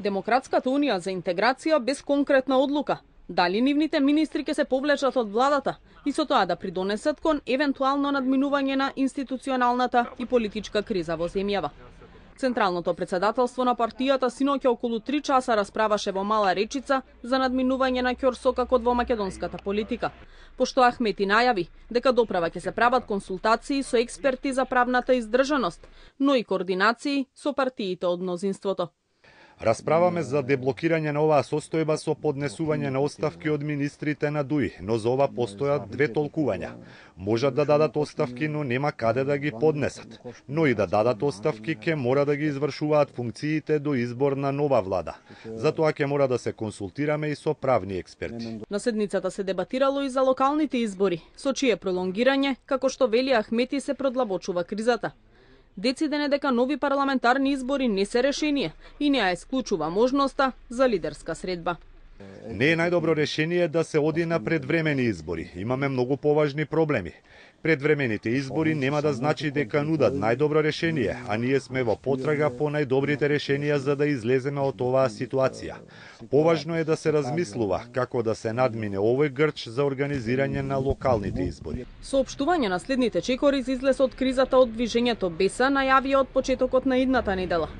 Демократската унија за интеграција без конкретна одлука. Дали нивните министри ќе се повлечат од владата и со тоа да придонесат кон евентуално надминување на институционалната и политичка криза во земјава. Централното председателство на партијата синоќа околу 3 часа расправаше во Мала Речица за надминување на ќорсокакот во македонската политика, пошто Ахмети најави дека доправа ќе се прават консултации со експерти за правната издржаност, но и координации со партиите од мнозинството. Расправаме за деблокирање на оваа состојба со поднесување на оставки од министрите на ДУИ, но за ова постојат две толкувања. Можат да дадат оставки, но нема каде да ги поднесат. Но и да дадат оставки, ќе мора да ги извршуваат функциите до избор на нова влада. Затоа ќе мора да се консултираме и со правни експерти. На седницата се дебатирало и за локалните избори, со чие пролонгирање, како што вели Ахмети, се продлабочува кризата. Дециден е дека нови парламентарни избори не се решение и не ја исклучува можноста за лидерска средба. Не е најдобро решение да се оди на предвремени избори. Имаме многу поважни проблеми. Предвремените избори нема да значи дека нудат најдобро решение, а ние сме во потрага по најдобрите решенија за да излеземе од оваа ситуација. Поважно е да се размислува како да се надмине овој грч за организирање на локалните избори. Соопштување на следните чекори за излез од кризата од движењето Беса најавија од почетокот на идната недела.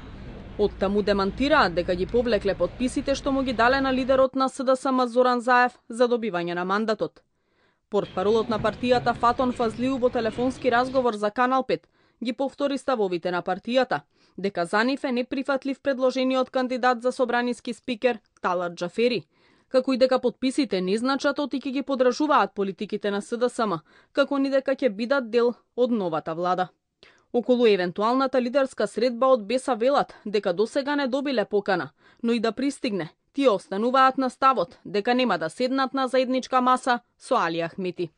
Оттаму демантираат дека ги повлекле потписите што му ги дале на лидерот на СДСМ Зоран Заев за добивање на мандатот. Портпаролот на партијата Фатон Фазлиу во телефонски разговор за Канал 5 ги повтори ставовите на партијата, дека за нив е неприфатлив предложениот кандидат за собраниски спикер Талат Џафери, како и дека потписите не значат оти ќе ги подражуваат политиките на СДСМ, како ни дека ќе бидат дел од новата влада. Околу евентуалната лидерска средба од Беса велат дека досега не добиле покана, но и да пристигне, тие остануваат на ставот дека нема да седнат на заедничка маса со Али Ахмети.